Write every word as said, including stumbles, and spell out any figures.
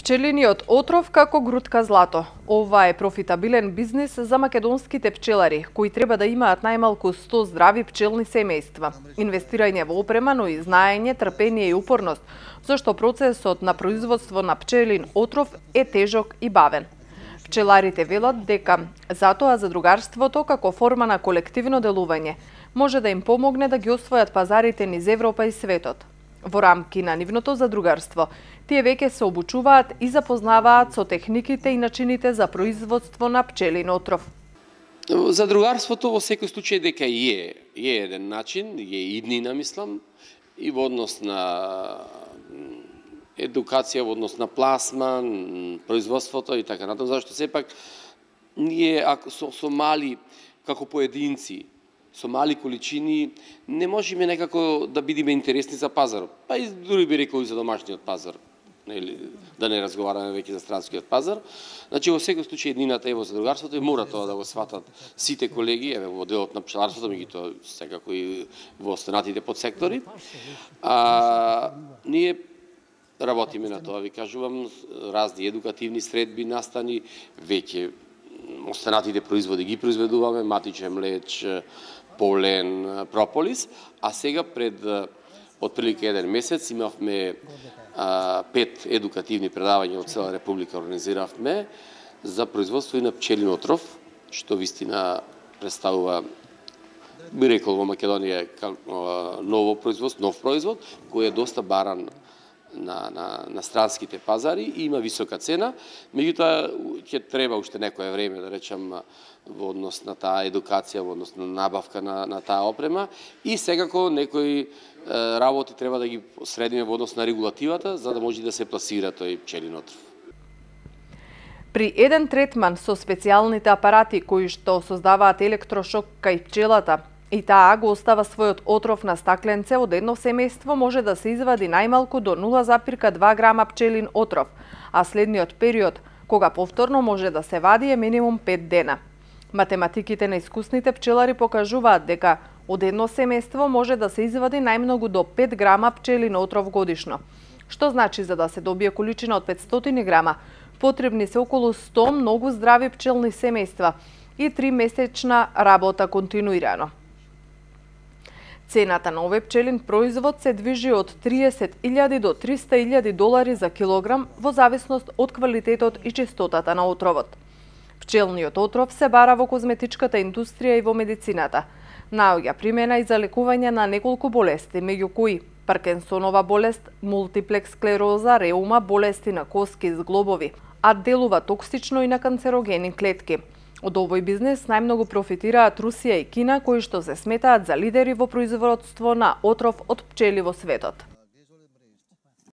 Пчелиниот отров како грудка злато. Ова е профитабилен бизнис за македонските пчелари, кои треба да имаат најмалку сто здрави пчелни семејства. Инвестирање во опрема, но и знаење, трпение и упорност, зашто процесот на производство на пчелин отров е тежок и бавен. Пчеларите велат дека затоа задругарството како форма на колективно делување може да им помогне да ги освојат пазарите низ Европа и светот. Во рамки на нивното задругарство, тие веќе се обучуваат и запознаваат со техниките и начините за производство на пчелин отров. Задругарството во секој случај дека е, е еден начин, е иднина, мислам, и во однос на едукација, во однос на пласман, производството и така натаму, зашто сепак ние ако со, со мали како поединци, со мали количини, не можеме некако да бидеме интересни за пазарот. Па и дури би рекол и за домашниот пазар, нели, да не разговараме веќе за странскиот пазар. Значи, во секој случај еднината е во задругарството и мора тоа да го сватат сите колеги, еве во делот на пчеларството, меѓутоа секако и во останатите подсектори. А ние работиме на тоа, ви кажувам, разни едукативни средби, настани, веќе останатите производи ги произведуваме, матиче млеч, полен, прополис, а сега пред отприлика еден месец имавме а, пет едукативни предавања од цела Република организиравме за производство и на пчелин отров, што вистина представува, би рекол во Македонија, ново производство, нов производ, кој е доста баран на, на, на странските пазари и има висока цена, меѓутоа ќе треба уште некое време, да речам, во однос на таа едукација, во однос на набавка на, на таа опрема и секако некои е, работи треба да ги средиме во однос на регулативата, за да може да се пласира тој пчелин отров. При еден третман со специјалните апарати кои што создаваат електрошок кај пчелата, и таа го остава својот отров на стакленце, од едно семејство може да се извади најмалку до нула зарез два грама пчелин отров, а следниот период, кога повторно може да се вади, е минимум пет дена. Математиките на искусните пчелари покажуваат дека од едно семејство може да се извади најмногу до пет грама пчелин отров годишно, што значи за да се добие количина од петстотини грама, потребни се околу сто многу здрави пчелни семејства и три месечна работа континуирано. Цената на овој пчелин производ се движи од триесет илјади до триста илјади долари за килограм во зависност од квалитетот и чистотата на отровот. Пчелниот отров се бара во козметичката индустрија и во медицината. Наоѓа примена и за лекување на неколку болести, меѓу кои Паркинсонова болест, мултиплекс склероза, реума, болести на коски и зглобови, а делува токсично и на канцерогени клетки. Од овој бизнес најмногу профитираат Русија и Кина, кои што се сметаат за лидери во производство на отров од пчели во светот.